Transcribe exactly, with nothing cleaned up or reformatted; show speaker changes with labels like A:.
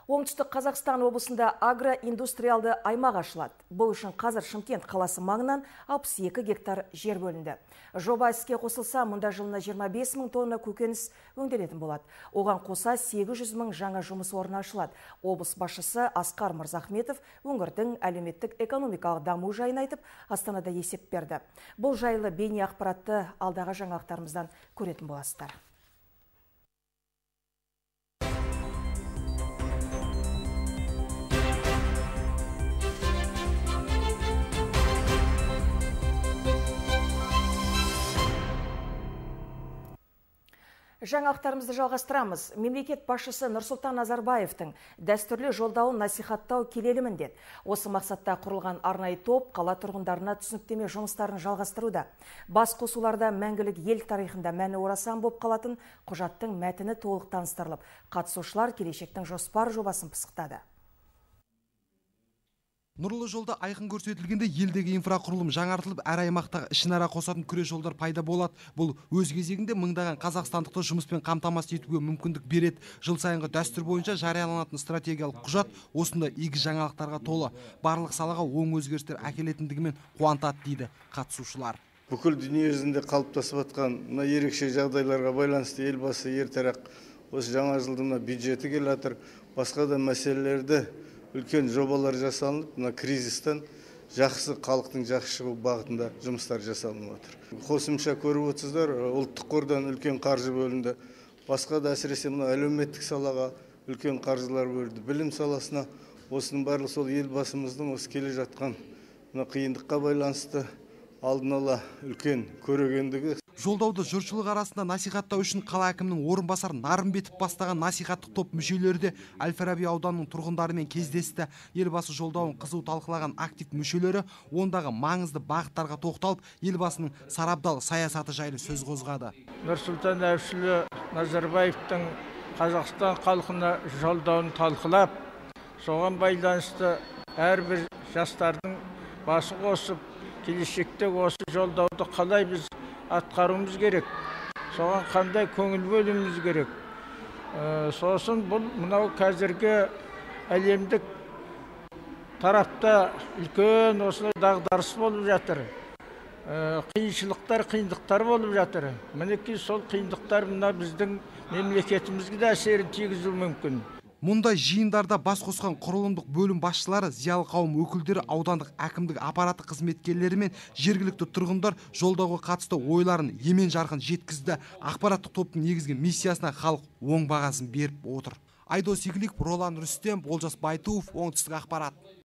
A: Оңтүстік Қазақстан облысында агроиндустриалды аймақ ашылады. Бұл үшін қазір Шымкент қаласы маңынан алпыс екі гектар жер бөлінді. Жоба іске қосылса, мұнда жылына жиырма бес мың тонна көкөніс өңделетін болады. Оған қоса сегіз жүз мың жаңа жұмыс орны ашылады. Облыс басшысы Асқар Мырзахметов өңірдің әлеуметтік экономикалық даму жайын айтып, Астанада есеп берді. Бұл жайлы бейне ақпаратты алдағы жаңалықтарымыздан көретін боласыздар. Жаңалықтарымызды жалғастырамыз. Мемлекет басшысы Нұрсұлтан Назарбаевтың дәстүрлі жолдауын насихаттау келелі міндет. Осы мақсатта құрылған арнайы топ қала тұрғындарына түсініктеме жұмыстарын жалғастыруда. Бас қосуларда мәңгілік ел тарихында мәні орасан болып қалатын құжаттың мәтіні толық таныстырылып, қатысушылар келешектің жоспар жобасын пысықтады.
B: Нұрлы жолда айқын көрсетілгенде елдегі инфрақұрылым жаңартылып, әр аймақтағы ішінара қосатын күре жолдар пайда болады. Бұл өз кезегінде мыңдаған қазақстандықты жұмыспен қамтамасыз етуге мүмкіндік береді. Жыл сайынғы дәстүр бойынша жарияланатын стратегиялық құжат осында игі жаңалықтарға толы. Барлық салаға оң өзгерістер әкелетіндігімен қуантады дейді қатысушылар.
C: Бүкіл дүние жүзінде қалыптасып жатқан мына ерекше жағдайларға байланысты елбасы ертерек осы жаңа жылдың бюджеті келе жатыр. Басқа да мәселелерді үлкен жобалар жасалынып, мына кризистен жақсы халықтың жақсы шығу бағытында жұмыстар жасалынып отыр. Қосымша көріп отырсыздар, ұлттық қордан үлкен қаржы бөлінді. Басқа да әсіресе мына әлеуметтік салаға үлкен қаржылар бөлінді. Білім саласына осының барлығы сол елбасымыздың осы келе жатқан мына қиындыққа байланысты алдын ала үлкен көрегендігі.
B: Жолдауды жұртшылық арасында насихаттау үшін қала әкімінің орынбасары Нарымбетов бастаған насихаттық топ мүшелері де Әл-Фараби ауданының тұрғындарымен кездесті. Елбасы жолдауын қызу талқылаған актив мүшелері ондағы маңызды бағыттарға тоқталып, елбасының сарабдал саясаты жайлы сөз қозғады.
D: Нұрсұлтан әбішұлы Назарбаевтың Қазақстан халқына жолдауын талқылап, соған байланысты әрбір жастардың басы қосып, келешекте осы жолдауды қалай біз атқаруымыз керек, соған қандай көңіл бөлуіміз керек. Сосын бұл мынау қазіргі әлемдік тарапта үлкен осылай дағдарыс болып жатыр. Қиыншылықтар, қиындықтар болып жатыр. Мінекей сол қиындықтар мына біздің мемлекетімізге де әсерін тигізуі мүмкін.
B: Мұндай жиындарда бас қосқан құрылымдық бөлім басшылары, зиялы қауым өкілдері, аудандық әкімдік аппараты қызметкерлері мен жергілікті тұрғындар жолдауға қатысты ойларын емен жарқын жеткізді. Ақпараттық топтың негізгі миссиясына халық оң бағасын беріп отыр. Айдос Игіліков, Ролан Рүстем, Олжас Байтуов, Оңтүстік ақпарат.